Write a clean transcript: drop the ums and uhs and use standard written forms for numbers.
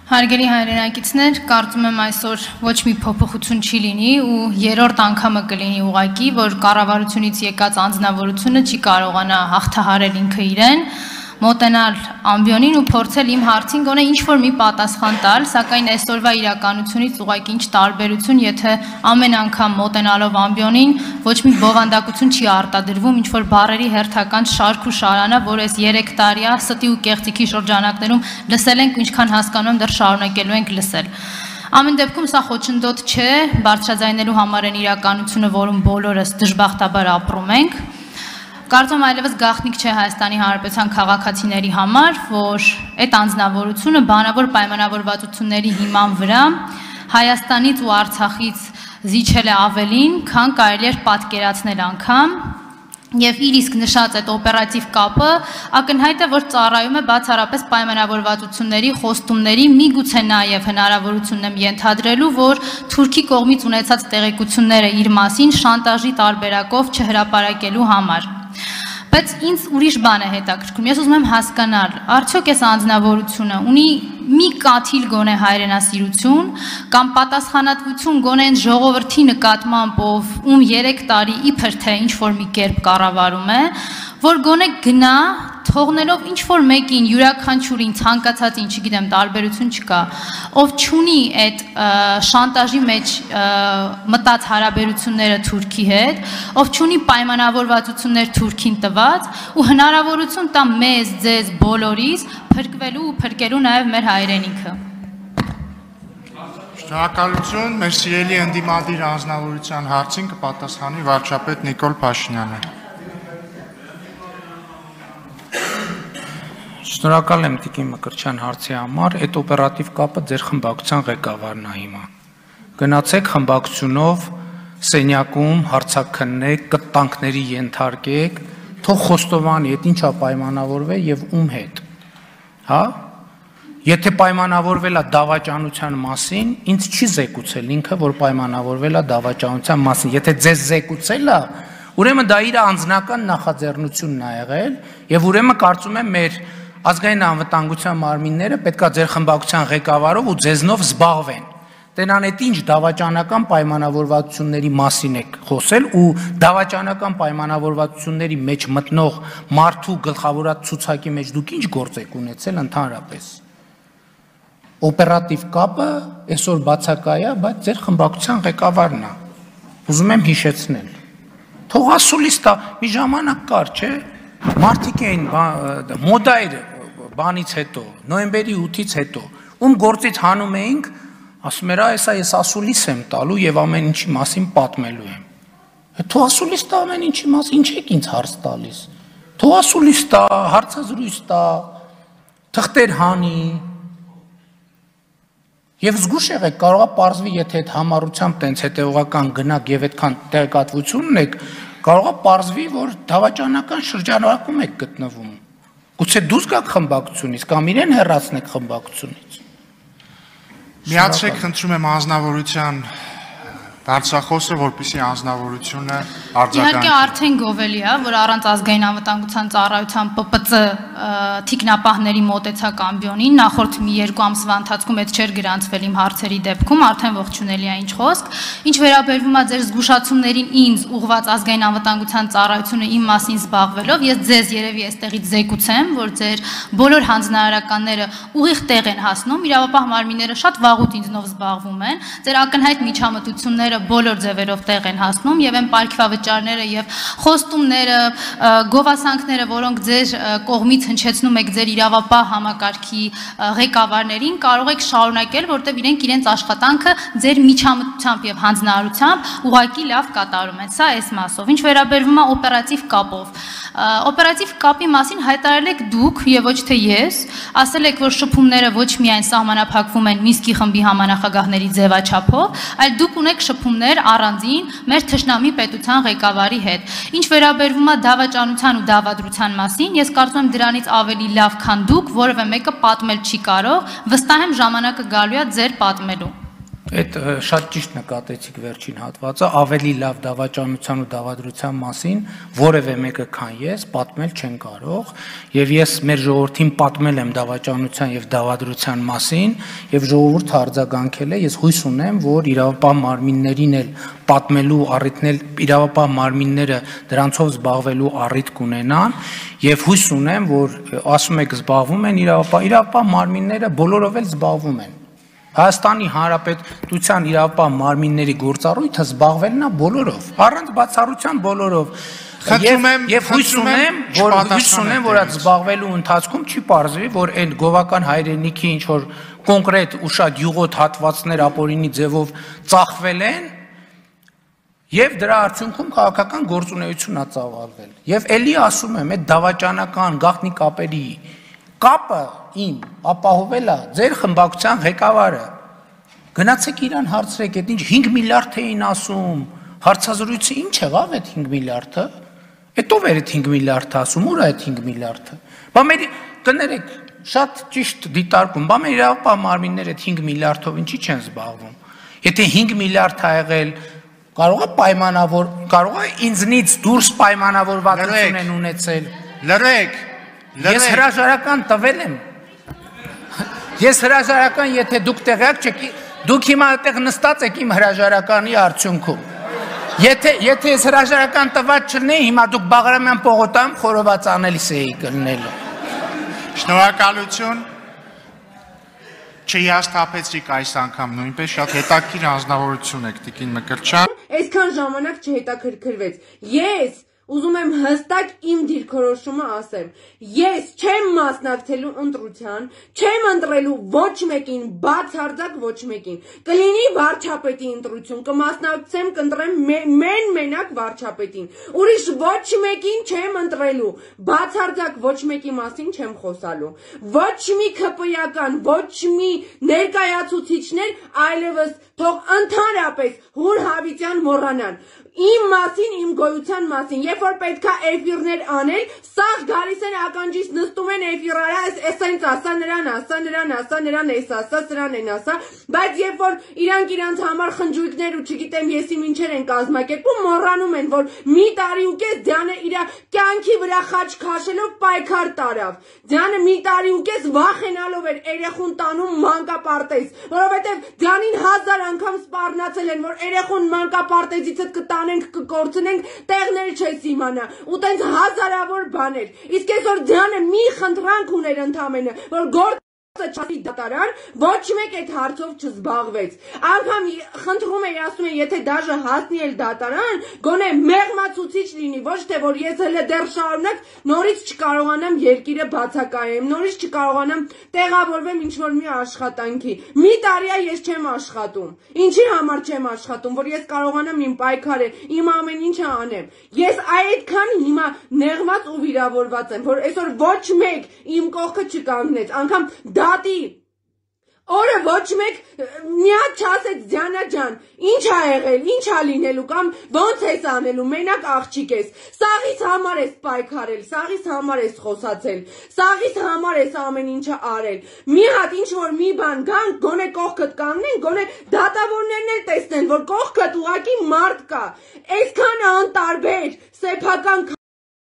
Հարգելի հայրենակիցներ, կարծում եմ այսօր ոչ մի փոփոխություն չի լինի ու երրորդ անգամը կլինի ուղղակի, որ կառավարությունից եկած անձնավորությունը չի կարողանա հաղթահարել ինքը իրեն, մոտենալ ամբիոնին ու փորձել իմ հարցին գոնե ինչ-որ մի պատասխան տալ, սակայն այսօրվա իրականությունից ուղղակի ինչ տարբերություն, եթե ամեն անգամ մոտենալով ամբիոնին ոչ մի բովանդակություն չի արտադրվում, ինչ-որ բառերի հերթական շարք ու շարանա, որ այս 3 տարիա ստի ու կեղծիքի շրջանակներում լսել ենք ու ինչքան հասկանում եմ դեռ շարունակելու ենք լսել։ Ամեն դեպքում սա խոչընդոտ չէ, բարձրաձայնելու համար են իրականությունը, որում բոլորս դժբախտաբար ապրում ենք։ Կարծում եմ այլևս գաղտնիք չէ Հայաստանի Հանրապետության քաղաքացիների համար, որ այդ անձնավորությունը բանավոր պայմանավորվածությունների հիման վրա Հայաստանից ու Արցախից զիջել է ավելին, քան կարելի էր պատկերացնել անգամ, եւ իր իսկ նշած այդ օպերատիվ կապը ակնհայտ է, որ ծառայում է բացառապես պայմանավորվածությունների, խոստումների, միգուցե նաեւ հնարավորությունն եմ ենթադրելու, որ Թուրքի կողմից ունեցած տեղեկությունները իր մասին շանտաժի տարբերակով չհրապարակելու համար։ Բայց ինձ ուրիշ բան է հետաքրքրում, ես ուզում եմ հասկանալ, արդյոք այս անձնավորությունը ունի մի կաթիլ գոնե հայրենասիրություն կամ պատասխանատվություն գոնե այն ժողովրդի նկատմամբ, ում 3 տարի իբր թե ինչ-որ մի կերպ կառավարում է, որ գոնե գնա թողնելով ինչ-որ մեկին յուրաքանչյուրին ցանկացածին, չգիտեմ, տարբերություն չկա, ով չունի այդ շանտաժի մեջ մտած հարաբերությունները Թուրքի հետ, ով չունի պայմանավորվածություններ Թուրքին տված ու հնարավորություն տա մեզ, ձեզ, բոլորիս փրկվելու ու փրկելու նաև մեր հայրենիքը։ Շնորհակալություն, մեր սիրելի ընդդիմադիր անձնավորության հարցին կպատասխանի վարչապետ Նիկոլ Փաշինյանը։ Շնորհակալ եմ Տիկին Մկրտչյան հարցի համար, այդ օպերատիվ կապը ձեր խմբակցության ղեկավարն է հիմա։ Գնացեք խմբակցությունով սենյակում հարցաքննեք, կտանքների ենթարկեք, թող խոստովանի, այդ ինչա պայմանավորվել եւ ում հետ։ Հա? Եթե պայմանավորվել է դավաճանության մասին, ինձ չի զեկուցել ինքը, որ պայմանավորվել է դավաճանության մասին։ Եթե ձեզ զեկուցել է, ուրեմն դա իր անձնական նախաձեռնությունն է եղել եւ ուրեմն կարծում եմ մեր ազգային անվտանգության մարմինները պետքա ձեր խմբակցության ղեկավարով ու ձեզնով զբաղվեն։ Տենան այդ ինչ դավաճանական պայմանավորվածությունների մասին եք խոսել ու դավաճանական պայմանավորվածությունների մեջ մտնող մարդու գլխավորած ցուցակի մեջ դուք ինչ գործ եք ունեցել ընդհանրապես։ Օպերատիվ կապը այսօր բացակայ է, բայց ձեր խմբակցության ղեկավարն է։ Ուզում եմ հիշեցնել։ Թող ասուլիս տա, մի ժամանակ կար, չէ՞։ Մարդիկ էին մոդա էր բանից հետո, նոյեմբերի 8-ից հետո, ում գործից հանում էինք, ասում էր, այսա ես ասուլիս եմ տալու եւ ամեն ինչի մասին պատմելու եմ։ Թող ասուլիս տա ամեն ինչի մասին, ինչ եք ինձ հարց տալիս։ Թող ասուլիս տա, հարցազրույց տա, թղթեր հանի։ Եվ զգուշ եղեք, կարող է պարզվի, եթե այդ համառությամբ տենց հետևողական գնաք եւ այդքան տեղեկատվություն ունեք, կարող է պարզվի, որ դավաճանական շրջանակում եք գտնվում։ Գուցե դուրս գաք խմբակցությունից կամ իրեն հեռացնեք խմբակցությունից։ Միացրեք, խնդրում եմ անձնավորության դարձախոսը, որպեսզի անձնավորությունը արձագանքի։ Իհարկե արդեն գովելի է, որ առանց ազգային անվտանգության ծառայության ՊՊԾ թիկնապահների մոտեցակ ամբիոնին նախորդ մի 2 ամսվա ընթացքում այդ չէր գրանցվել իմ հարցերի դեպքում, արդեն ողջունելի է ինչ խոսք։ Ինչ վերաբերվում է ձեր զգուշացումներին ինձ ուղղված ազգային անվտանգության ծառայությունը իմ մասին զբաղվելով, ես ձեզ երևի այստեղից զեկուցեմ, որ ձեր բոլոր հանձնարարականները ուղիղ տեղ են հասնում, իրավապահ մարմինները շատ վաղուց ինձնով զբաղվում են, ձեր ակնհայտ միջամտությունները բոլոր ձևերով տեղ են հասնում եւ այն պարգևավճարները եւ խոստումները, գովասանքները, որոնք ձեր կողմից հնչեցնում եք ձեր իրավապահ համակարգի ղեկավարներին, կարող եք շարունակել, որտեղ իրենք իրենց աշխատանքը ձեր միջամտությամբ եւ հանձնարարությամբ ուղղակի լավ կատարում են։ Սա այս մասով։ Ինչ վերաբերվում է օպերատիվ կապով, օպերատիվ կապի մասին հայտարարել եք դուք եւ ոչ թե ես, ասել եք, որ շփումները ոչ միայն սահմանափակվում են Մինսկի խմբի համանախագահների ձևաչափով, այլ դուք ունեք շփումներ առանձին մեր թշնամի պետության ղեկավարի հետ։ Ինչ վերաբերվում է դավաճանության ու դավադրության մասին, ես կարծում եմ դրանից ավելի լավ, քան դուք, որևէ մեկը պատմել չի կարող, վստահ եմ ժամանակը գալու է ձեր պատմելու։ Այդ շատ ճիշտ նկատեցիք վերջին հատվածը, ավելի լավ դավաճանության ու դավադրության մասին որևէ մեկը քան ես պատմել չեն կարող, եւ ես մեր ժողովրդին պատմել եմ դավաճանության եւ դավադրության մասին, եւ ժողովուրդը արձագանքել է, ես հույս ունեմ, որ իրավապահ մարմիններին էլ պատմելու առիթն էլ իրավապահ մարմինները դրանցով զբաղվելու առիթ կունենան, եւ հույս ունեմ, որ ասում եք զբաղվում են իրավապահ մարմինները բոլորով էլ զբաղվում են։ Հայաստանի Հանրապետության իրավապահ մարմինների գործառույթը զբաղվելն է բոլորով, առանց բացառության բոլորով։ Եվ հույս ունեմ, որ այդ զբաղվելու ընթացքում չի պարզվի, որ այն գովական հայրենիքի ինչ որ կոնկրետ ու շատ յուղոտ հատվածներ ապօրինի ձևով ծախվել են, եւ դրա արդյունքում քաղաքական գործունեություն է ծավալվել։ Եւ ելի ասում եմ, այդ դավաճանական գաղտնի կապերի կապը իմ ապահովել է ձեր խմբակցության ղեկավարը։ Գնացեք իրան հարցրեք, այդ ինչ 5 միլիարդ էին ասում, հարցազրույցը ինչ եղավ այդ 5 միլիարդը։ Այդ ով էր այդ 5 միլիարդը ասում, ուր է այդ 5 միլիարդը։ Բա մեր կներեք, շատ ճիշտ դիտարկում, բա մեր իրավապահ մարմինները այդ 5 միլիարդով ինչի չեն զբաղվում։ Եթե 5 միլիարդ է եղել, կարող է պայմանավոր, կարող է ինձնից դուրս պայմանավորվածություն են ունեցել։ Լրեք։ Ես հրաժարական տվել եմ։ Ես հրաժարական, եթե դուք տեղյակ չեք, դուք հիմա այդտեղ նստած եք իմ հրաժարականի արդյունքում։ Եթե ես հրաժարական տված չլինեի, հիմա դուք Բաղրամյան պողոտայում խորոված անելիս էի կլնելու։ Շնորհակալություն։ Չհիասթափեցիք այս անգամ նույնպես շատ հետաքրքիր անձնավորություն եք Տիկին Մկրտչյան։ Այսքան ժամանակ չհետաքրքրվեց։ Ես ուզում եմ հստակ իմ դիրքորոշումը ասեմ։ Ես չեմ մասնակցելու ընտրության, չեմ ընտրելու ոչ մեկին, բացարձակ ոչ մեկին։ Կլինի վարչապետի ընտրություն, կմասնակցեմ, կընտրեմ մենակ վարչապետին։ Ուրիշ ոչ մեկին չեմ ընտրելու, բացարձակ ոչ մեկի մասին չեմ խոսալու։ Ոչ մի ԿՊ-ական, ոչ մի ներկայացուցիչներ այլևս թող ընդհանրապես Հուր Հավիտյան մոռանան։ Իմ մասին, իմ գոյության մասին, երբ որ պետք է էֆիրներ անել, սաղ գալիս են ականջից նստում են էֆիրարա, էսենց ասա նրան, ասա նրան, ասա նրան, էս ասա, սրան են ասա, բայց երբ որ իրանք համար խնջույքներ ու չգիտեմ եսի մինչեր են կազմակերպում, մոռանում են, որ մի տարի ու կես Դյանը իր կյանքի վրա խաչ քաշելով պայքար տարավ։ Դյանը մի տարի ու կես վախենալով էր երեխուն տանում մանկապարտեզ, որովհետև Դյանին 1000 անգամ սպառնացել են, որ երեխուն մանկապարտեզից կտանենք, կկորցնենք, տեղներ չես իմանա, ու տենց հազարավոր բաներ։ Իսկ այսօր Դյանը մի խնդրանք ուներ ընդամենը, որ չասի դատարան, ոչ մեկ այդ հարցով չզբաղվեց։ Անգամ խնդրում էի, ասում եմ, եթե դաժե հասնի էլ դատարան, գոնե մեղմացուցիչ լինի, ոչ թե որ ես հələ դեռ շարունակ նորից չկարողանամ երկիրը բացակայեմ, նորից չկարողանամ տեղավորվեմ ինչ-որ մի աշխատանքի։ Մի տարի է ես չեմ աշխատում։ Ինչի համար չեմ աշխատում, որ ես կարողանամ իմ պայքարը, իմ ամեն ինչը անեմ։ Ես այդքան հիմա նեղված ու վիրավորված եմ, որ այսօր ոչ մեկ իմ կողքը չկանգնեց, անգամ դատի օրը ոչ մեկ միած չասեց Դիանա ջան, ինչ ա եղել, ինչ ա լինելու կամ ոնց ես անելու, մենակ աղջիկ ես, սաղից համար ես պայքարել, սաղից համար ես խոսացել, սաղից համար ես ամեն ինչը արել, մի հատ ինչ որ մի բան գան, գոնե կողքդ կանգնեն, գոնե դատավորներն էլ տեսնեն, որ կողքդ ուղակի մարդ կա, այսքան անտարբեր, սեփական